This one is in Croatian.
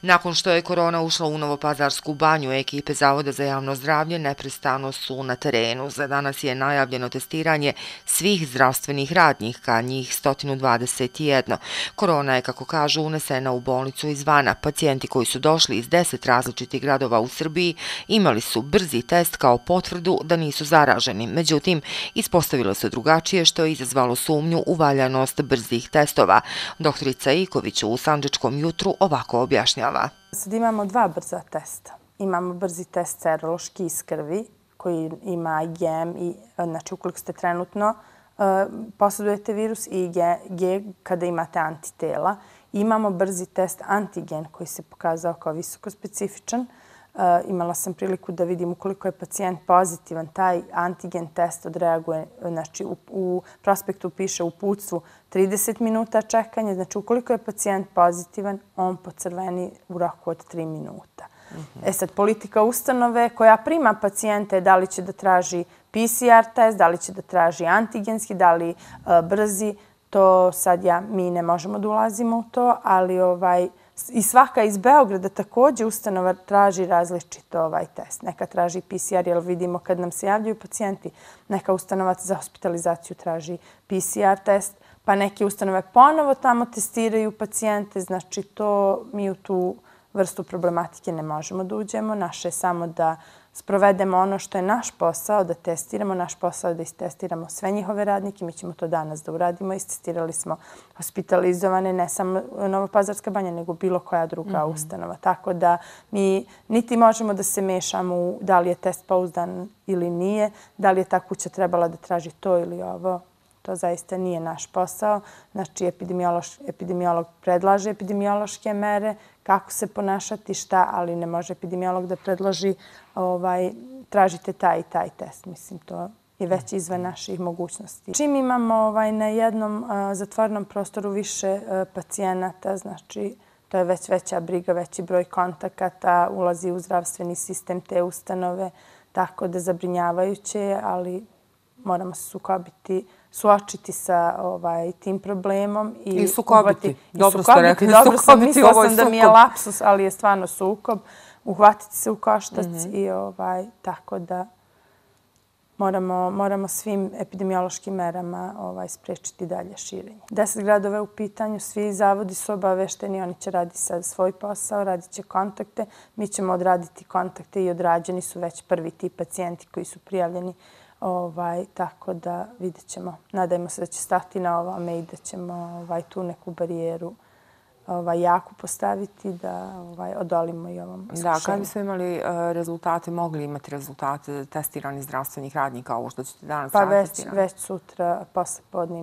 Nakon što je korona ušla u Novopazarsku banju, ekipe Zavoda za javno zdravlje neprestano su na terenu. Za danas je najavljeno testiranje svih zdravstvenih radnika, njih 121. Korona je, kako kažu, unesena u bolnicu izvana. Pacijenti koji su došli iz 10 različitih gradova u Srbiji imali su brzi test kao potvrdu da nisu zaraženi. Međutim, ispostavilo se drugačije, što je izazvalo sumnju u valjanost brzih testova. Doktorica Iković u Sandžačkom jutru ovako objašnjava. Sad imamo dva brza testa. Imamo brzi test serološki iz krvi koji ima IgM, znači ukoliko ste trenutno posjedujete virus, i IgG kada imate antitela. Imamo brzi test antigen koji se pokazao kao visoko specifičan. Imala sam priliku da vidim ukoliko je pacijent pozitivan, taj antigen test odreaguje, znači u prospektu piše u uputstvu 30 minuta čekanja, znači ukoliko je pacijent pozitivan, on pocrveni u roku od 3 minuta. Sad, politika ustanove koja prima pacijente, da li će da traži PCR test, da li će da traži antigenski, da li brzi, to sad mi ne možemo da ulazimo u to, ali i svaka iz Beograda također ustanova traži različito test. Neka traži PCR, jer vidimo kad nam se javljaju pacijenti, neka ustanova za hospitalizaciju traži PCR test, pa neke ustanove ponovo tamo testiraju pacijente. Znači, mi u tu vrstu problematike ne možemo da uđemo. Naše je samo da sprovedemo ono što je naš posao, da testiramo. Naš posao je da istestiramo sve njihove radnike. Mi ćemo to danas da uradimo. Istestirali smo hospitalizovane, ne samo Novopazarska banja, nego bilo koja druga ustanova. Tako da mi niti možemo da se mešamo u da li je test pouzdan ili nije, da li je ta kuća trebala da traži to ili ovo. To zaista nije naš posao. Znači, epidemiolog predlaže epidemiološke mere, kako se ponašati, šta, ali ne može epidemiolog da predloži tražite taj i taj test. Mislim, to je već izvan naših mogućnosti. Čim imamo na jednom zatvorenom prostoru više pacijenata, znači to je već veća briga, veći broj kontakata, ulazi u zdravstveni sistem te ustanove, tako da zabrinjavajuće, ali moramo se suočiti sa tim problemom. I sukobiti. Dobro ste rekli, dobro sam, mislila sam da mi je lapsus, ali je stvarno sukob. Uhvatiti se u koštac i tako da moramo svim epidemiološkim merama sprečiti dalje širenje. 10 gradova je u pitanju, svi zavodi su obavešteni, oni će raditi sad svoj posao, radit će kontakte. Mi ćemo odraditi kontakte i odrađeni su već prvi ti pacijenti koji su prijavljeni. Tako da vidjet ćemo. Nadajmo se da će stati na ovome i da ćemo tu neku barijeru jaku postaviti da odolimo i ovom iskušenju. Da, kada bismo imali rezultate, mogli imati rezultate testiranih zdravstvenih radnika, ovo što ćete danas raditi? Pa već sutra posle podne.